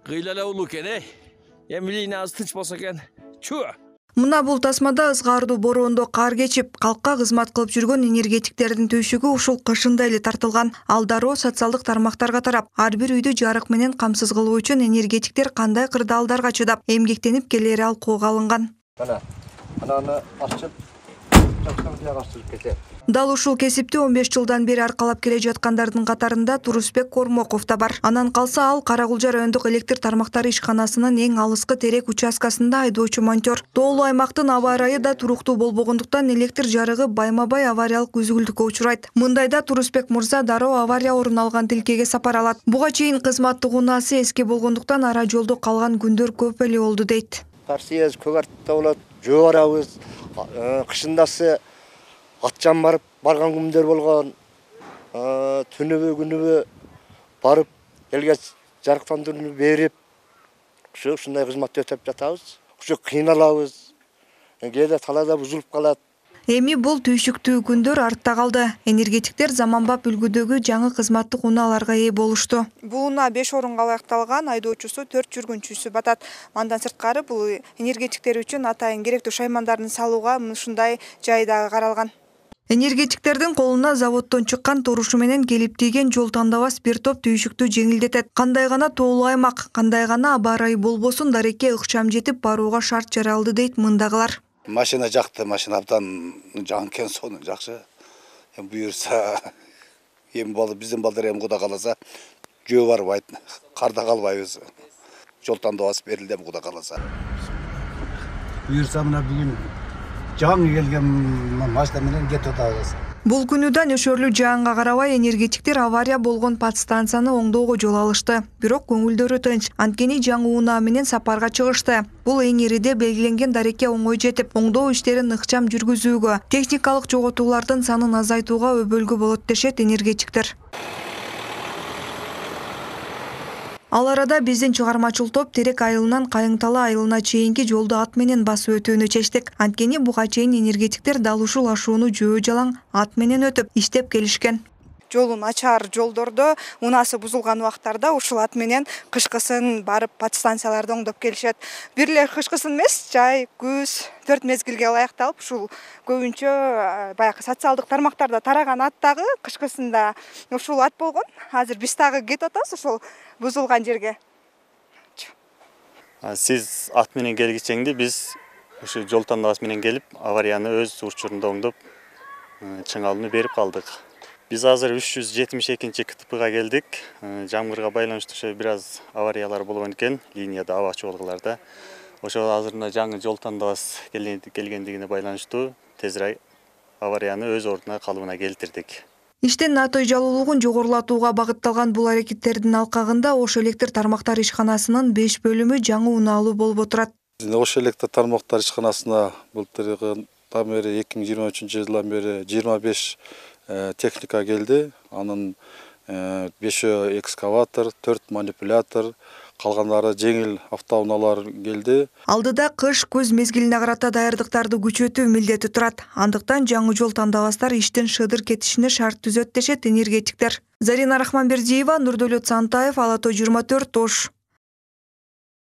Кыйла эле улуу экен, эмилийин аз тынч болсо экен. Чу. Мына бул тасмада ызгаардуу бороондо кар кечип, калкка кызмат кылып жүргөн энергетиктердин түйшүгү ушул кышында эле тартылган. Ал дароо социалдык тармактарга тарап, ар бир үйдү жарык менен камсыз кылуу үчүн энергетиктер кандай кырдаалдарга чыдап, эмгектенип келери алкууга алынган. Ананы ачып, Дал ушул кесипти 15 жылдан бери аркалап келе жаткандардын катарында Турусбек Кормоков да бар. Анан калса ал Кара-Кулжа райондук электр тармактары ишканасынын эң алыскы терек участкасында айдоочу монтер. Тоолуу аймактын аба ырайы да туруктуу болбогондуктан электр жарыгы байма-бай авариялык үзүлдүккө учурайт. Мындайда Турусбек мырза дароо авария орун алган тилкеге сапар алат. Буга чейин кызматтык унаасы эски болгондуктан ара жолдо калган күндөр көп эле болду дейт. Тарсиез көгартта болот, жөө барабыз, кышындасы атчан барган күндөр болгон, күнүбү барып элге жарыктандырууну берип, ушундай кызматты өтөп жатабыз. Ушу кыйналабыз. Кээде талаада бузулуп калат. Эми бул түйшүктүү күндөр артта калды. Энергетиктер заманбап үлгүдөгү жаңы кызматтык унааларга ээ болушту. Бул унаа 5 орунга ылайыкталган, айдоочусу 4 жүргүнчүсү батат. Андан сырткары бул энергетиктер үчүн атайын керектүү шаймандарын салууга ушундай жай дагы каралган. Энергетиктердин колуна заводдон чыккан турушу менен келип тийген жол тандабас бир топ түйшүктү жеңилдетет. Кандай гана тоолуу аймак, кандай гана аба ырайы болбосун дарекке ыкчам жетип барууга шарт жаралды дейт мындагылар. Машина жакты, машина абдан жаңкен сону жакшы. Буюрса, биздин балдар Кудай кааласа жөө барбайт, карда калбайбыз. Жол тандабас берилди Кудай кааласа. Буюрса мына бүгүн жаңы келген машина менен кетип атабыз. Бул күнү да нөшөрлүү жаанга карабай энергетиктер авария болгон подстанцияны оңдоого жол алышты. Бирок көңүлдөрү тынч. Анткени жаңы унаа менен сапарга чыгышты. Бул эң ириде белгиленген дарекке оңой жетип, оңдоо иштерин ыкчам жүргүзүүгө, техникалык жоготуулардын санын азайтууга өбөлгү болот дешет энергетиктер. Ал арада биздин чыгармачыл топ Терек айылынан Кайыңталы айылына чейинки жолду ат менен басып өтүүнү чечтик. Анткени буга чейин энергетиктер дал ушул ашууну жөө жалаң ат менен өтүп иштеп келишкен. Жолун ачаар жолдордо унаасы бузулган убактарда ушул ат менен кышкысын барып подстанцияларды оңдоп келишет. Бир эле кышкысын эмес, жай, күз, 4 мезгилге ылайыкталып, ушул көбүнчө баягы социалдык тармактарда тараган ат дагы кышкысында ушул ат болгон. Азыр биз дагы кетип атабыз ушул бузулган жерге. Сиз ат менен келгичеңди биз ушу жол тандабас менен келип, аварияны өз учурунда оңдоп, чыңалууну берип калдык. Биз азыр 372 КТПга келдик. Жамгырга байланыштуу бир аз авариялар болгон экен, линияда аба чогулгуларда. Ошо азыр жаңы жол тандабас келгендигине байланыштуу тезирээк аварияны өз ордуна калыбына келтирдик. Иштин натой жалуулугун жогорулатууга багытталган бул аракеттердин алкагында Ош электр тармактары ишканасынын 5 бөлүмү жаңы унаалуу болуп отурат. Ош электр тармактары ишканасына былтыргы 2023 жылдан бери 25 техника келди. Анын 5 экскаватор, 4 манипулятор, калгандары жеңил автоунаалар келди. Алдыда кыш көз мезгилине карата даярдыктарды күчөтүү милдети турат. Андыктан жаңы жол тандабастар иштин шыдыр кетишине шарт түзөт дешет энергетиктер. Зарина Рахманбердиева, Нурдөлөт Сантаев, Ала Той 24, Ош.